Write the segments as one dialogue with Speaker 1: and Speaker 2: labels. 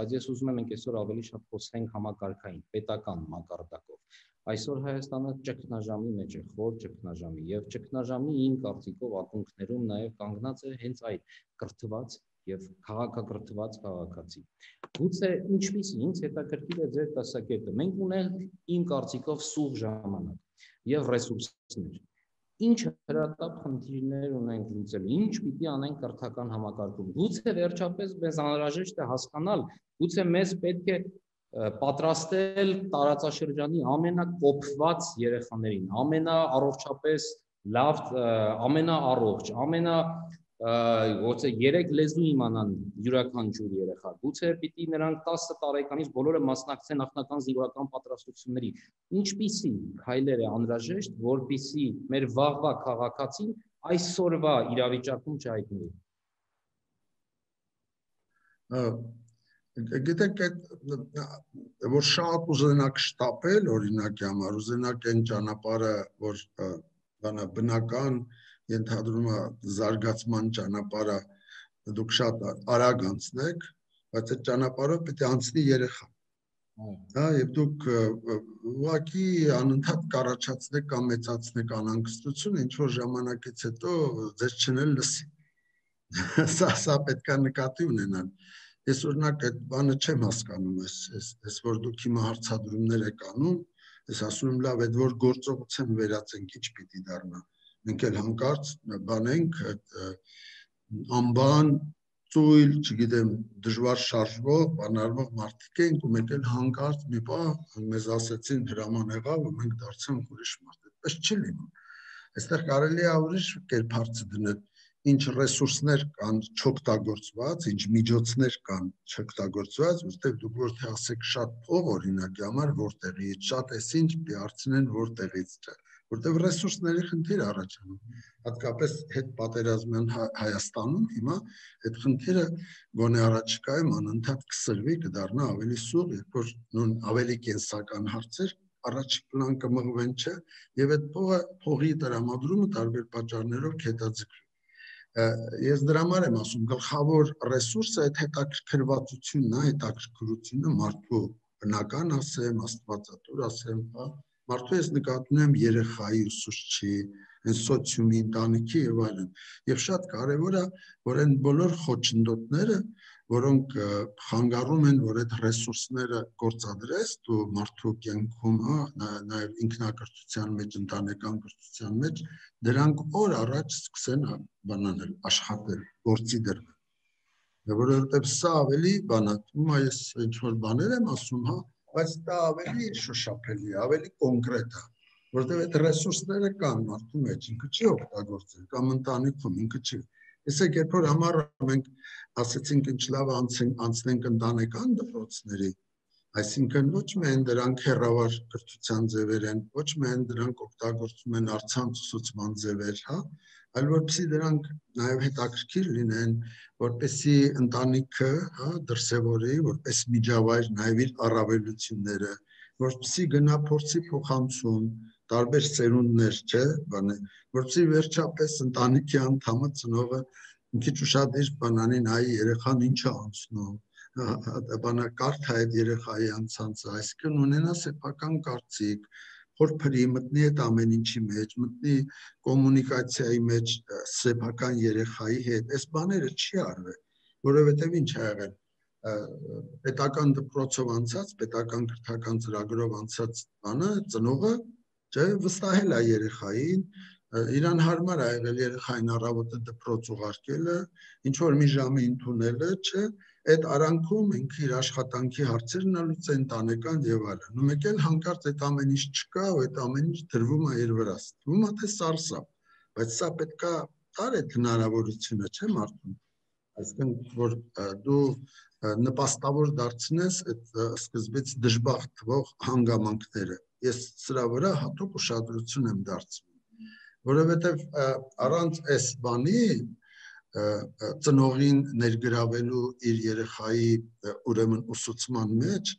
Speaker 1: բայց ես ուզում եմ մենք այսօր ավելի շատ խոսենք համակարգային, պետական մակարդակով։ Այսօր Հայաստանը ճգնաժամի մեջ է, խոր ճգնաժամի, եւ ճգնաժամի իմ կարծիքով ակունքներում նաեւ կանգնած է հենց այդ կրթված եւ քաղաքակրթված քաղաքացի։ Գուցե ինչպիսի ինձ հետաքրքիր է ձեր տեսակետը։ Մենք ունենք իմ կարծիքով սուղ ժամանակ եւ ռեսուրսներ։ Ինչ հրատապ խնդիրներ ունենք լուծելու, ինչ պիտի անենք կրթական համակարգում։ Գուցե վերջապես մեզ անհրաժեշտ է հասկանալ, գուցե մեզ պետք է պատրաստել տարածաշրջանի ամենակոփված երեխաներին, ամենաառողջապես լավ, ամենաառողջ, Գուցե 3 լեզու իմանան յուրաքանչյուր երեխա, գուցե պիտի նրանք 10 տարեկանից բոլորը մասնակցեն նախնական զինվորական պատրաստությունների։ Ինչպիսի քայլեր է անհրաժեշտ, որպեսզի մեր վաղվա քաղաքացին այսօրվա իրավիճակում չհայտնվի։
Speaker 2: Գիտեք, որ շատ ուզենակ շտապել, օրինակի համար, ուզենակ այն ճանապարհը, որ բնական ենթադրում է զարգացման ճանապարհը դուք շատ արագ անցնեք, բայց այդ ճանապարհով պետք է անցնի երեխա։ Հա, եւ դուք ուղղակի անընդհատ կառաջացնեք կամ մեծացնեք անհանգստությունը, ինչ որ ժամանակից հետո ձեզ չնել լսի։ Սա պետք է նկատի ունենալ։ Ես օրինակ այդ բանը չեմ հասկանում, այս որ դուք հիմա հարցադրումներ եք անում, ես ասում եմ լավ, այդ որ գործողության վերածենք, ինչ պիտի դառնա։ Մենք էլ հանկարծ բանենք անբան, ծույլ, չգիտեմ, դժվար շարժվող, բանալվող մարդիկ ենք ու մենք էլ հանկարծ մի պահ մեզ ասեցին հրաման եղավ ու մենք դարձանք ուրիշ մարդ։ Այդպես չի լինում։ Այստեղ կարելի է ուրիշ կերպ հարցը դնել, ինչ ռեսուրսներ կան չօգտագործված, ինչ միջոցներ կան չօգտագործված, որտեղ դուք որ թե ասեք շատ փող օրինակի համար որտեղից, շատ էս ինչ պիտի հարցնեն որտեղից չէ, որտեղ ռեսուրսների խնդիր առաջանում, հատկապես հետպատերազմյան Հայաստանում հիմա այդ խնդիրը գոնե առաջիկայում անընդհատ կսրվի, կդառնա ավելի սուղ, երբ որ նույն ավելի կենսական հարցեր առաջ պլան կմղվեն չէ, եւ այդ փողի տրամադրումը տարբեր պատճառներով կհետաձգվի։ Ես դրա համար եմ ասում, գլխավոր ռեսուրսը այդ հետաքրքրվածությունն է, հետաքրքրությունը մարդու բնական ասեմ, աստվածատուր ասեմ, մարդու ես նկատում եմ երեխայի, ուսուցչի, սոցիումի, ընտանիքի եւ այլն։ Եվ շատ կարեւոր է, որ այն բոլոր խոչընդոտները, որոնք խանգարում են, որ այդ ռեսուրսները գործադրես դու մարդու կյանքում, նաեւ ինքնակրթության մեջ, ընտանեկան կրթության մեջ, դրանք օր առաջ սկսեն բանանել, աշխատել, գործի դրվել։ Որովհետեւ սա ավելի բանատում է, ես ինչ որ բաներ եմ ասում, հա, բայց դա ավելի շոշափելի է, ավելի կոնկրետ է, որովհետեւ այդ ռեսուրսները կան մարդու մեջ, ինքը չի օգտագործել, կամ ընտանիքում ինքը չի։ Տեսեք, երբ որ համառը մենք ասեցինք ինչ լավ անցնենք ընտանեկան դպրոցների, այսինքն ոչ միայն դրանք հեռավար կրթության ձևեր են, ոչ միայն դրանք օգտագործում են առցանց ուսուցման ձևեր, հա, այլ որպեսզի դրանք նաև հետաքրքիր լինեն, որպեսզի ընտանիքը, հա, դրսևորի, որպես միջավայր նաև իր առավելությունները, որպեսզի գնա փորձի փոխանցում, տարբեր սերունդներ, չէ, որպեսզի վերջապես ընտանիքի անդամը ծնողը մի քիչ ուշադիր բանանի նայի երեխան ինչ է անցնում, բանա կարդա այդ երեխայի անցանցը, այսինքն ունենա սեփական կարծիք, փորփրի, մտնի այդ ամեն ինչի մեջ, մտնի կոմունիկացիայի մեջ սեփական երեխայի հետ, այս բաները չի արվել, որովհետև ինչ ա եղել, պետական դպրոցով անցած, պետական կրթական ծրագրով անցած բանը, ծնողը, չէ, վստահել է երեխային, իրան հարմար ա եղել երեխային առավոտը դպրոց ուղարկելը, ինչ որ մի ժամի ընդունելը, չէ, այդ արանքում ինքը իր աշխատանքի հարցերն լուծեն ընտանեկան եւ այլն։ Ու մեկ էլ հանկարծ այդ ամեն ինչ չկա, ու այդ ամեն ինչ դրվում է իր վրա։ Թվում է թե սարսափ, բայց սա պետքա տար այդ հնարավորությունը, չէ, մարդուն։ Այսինքն որ դու նպաստավոր դարձնես այդ սկզբից դժբախտ թվող հանգամանքները։ Ես սրա վրա հատուկ ուշադրություն եմ դարձնում, որովհետեւ առանց այս բանի ծնողին ներգրավելու իր երեխայի ուրեմն ուսուցման մեջ,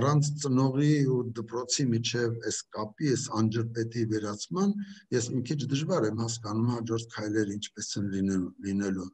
Speaker 2: առանց ծնողի ու դպրոցի միջև այս կապի, այս անջրպետի վերացման, ես մի քիչ դժվար եմ հասկանում հաջորդ քայլերը ինչպես են լինելու։